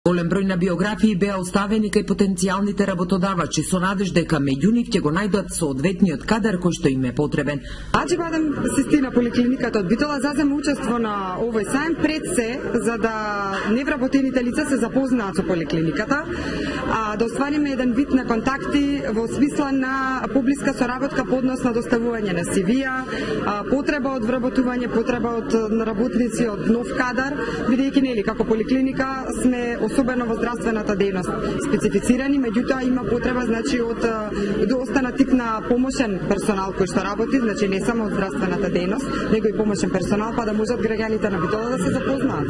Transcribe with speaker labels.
Speaker 1: Голем број на биографии беа оставени кај потенцијалните работодавачи со надеж дека меѓу нив ќе го најдат соодветниот кадар кој што им е потребен.
Speaker 2: Аџибадем систина поликлиниката од Битола зазема учество на овој сајм пред се за да невработените лица се запознаат со поликлиниката, да оствариме еден вид на контакти во смисла на поблиска соработка по однос на доставување на CV-а, потреба од вработување, потреба од работници, од нов кадар, бидејќи нели како поликлиника сме особено во здравствената дејност специфицирани, меѓутоа има потреба значи од остана тип на помошен персонал кој што работи, значи не само од здравствената дејност, него и помошен персонал, па да можат граѓаните на Битола да се запознаат.